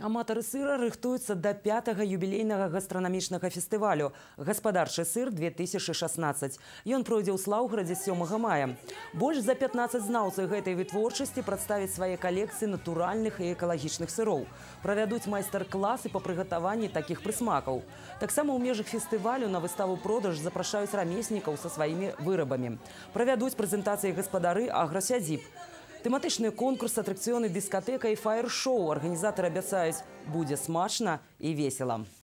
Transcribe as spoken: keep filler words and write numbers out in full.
Аматары сыра рыхтуюцца да пятага юбілейнага гастранамічнага фестывалю «Гаспадарчы сыр две тысячи шестнадцать». Ён пройдзе ў Слаўградзе сёмага мая. Больш за пятнаццаць знаўцаў гэтай вытворчасці прадставяць свае калекцыі натуральных і экалагічных сыроў. Правядуць майстар-класы па прыгатаванні такіх прысмакаў. Таксама ў межах фестывалю на выставу-продаж запрашаюць рамеснікаў са сваімі вырабамі. Правядуць прэзентацыі гаспадары аграсядзіб. Тэматычны конкурс, атракцыёны, дыскатэка і фаер-шоу арганізатары абяцаюць, будзе смачна і весела.